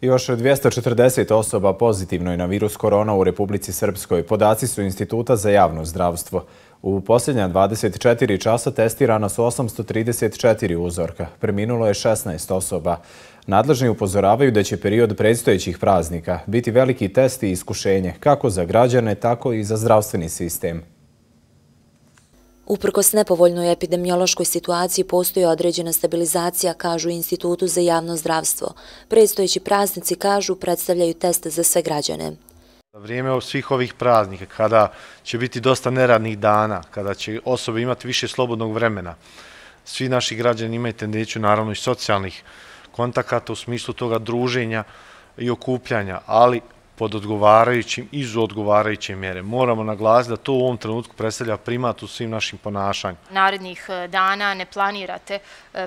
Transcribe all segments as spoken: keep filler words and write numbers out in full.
Još dvjesto četrdeset osoba pozitivno je na virus korona u Republici Srpskoj. Podaci su Instituta za javno zdravstvo. U posljednja dvadeset četiri časa testirana su osamsto trideset četiri uzorka. Preminulo je šesnaest osoba. Nadležni upozoravaju da će period predstojećih praznika biti veliki test i iskušenje, kako za građane, tako i za zdravstveni sistem. Uprkos nepovoljnoj epidemiološkoj situaciji postoji određena stabilizacija, kažu Institutu za javno zdravstvo. Predstojeći praznici, kažu, predstavljaju test za sve građane. Za vrijeme svih ovih praznika, kada će biti dosta neradnih dana, kada će osobe imati više slobodnog vremena, svi naši građani imaju tendenciju, naravno, i socijalnih kontakata u smislu toga druženja i okupljanja, ali pod odgovarajućim i uz odgovarajuće mjere. Moramo naglasiti da to u ovom trenutku predstavlja primat u svim našim ponašanjima. Narednih dana ne planirate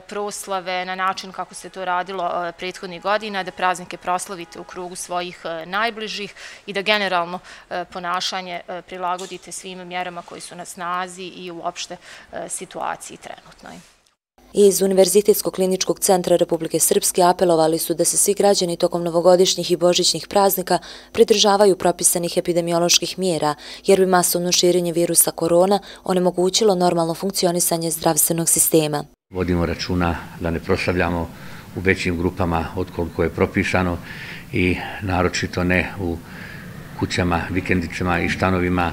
proslave na način kako se to radilo prethodnih godina, da praznike proslavite u krugu svojih najbližih i da generalno ponašanje prilagodite svim mjerama koji su na snazi i uopšte situaciji trenutnoj. Iz Univerzitetskog kliničkog centra Republike Srpske apelovali su da se svi građani tokom novogodišnjih i božićnih praznika pridržavaju propisanih epidemioloških mjera, jer bi masovno širenje virusa korona onemogućilo normalno funkcionisanje zdravstvenog sistema. Vodimo računa da ne proslavljamo u većim grupama od koliko je propisano i naročito ne u kućama, vikendicama i štanovima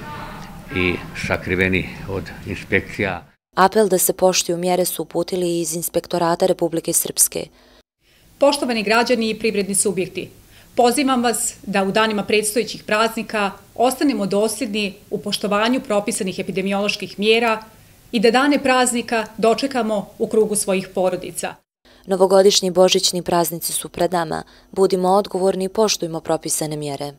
i sakriveni od inspekcija. Apel da se poštuju mjere su uputili iz Inspektorata Republike Srpske. Poštovani građani i privredni subjekti, pozivam vas da u danima predstojećih praznika ostanemo dosljedni u poštovanju propisanih epidemioloških mjera i da dane praznika dočekamo u krugu svojih porodica. Novogodišnji i božićni praznici su pred nama. Budimo odgovorni i poštujmo propisane mjere.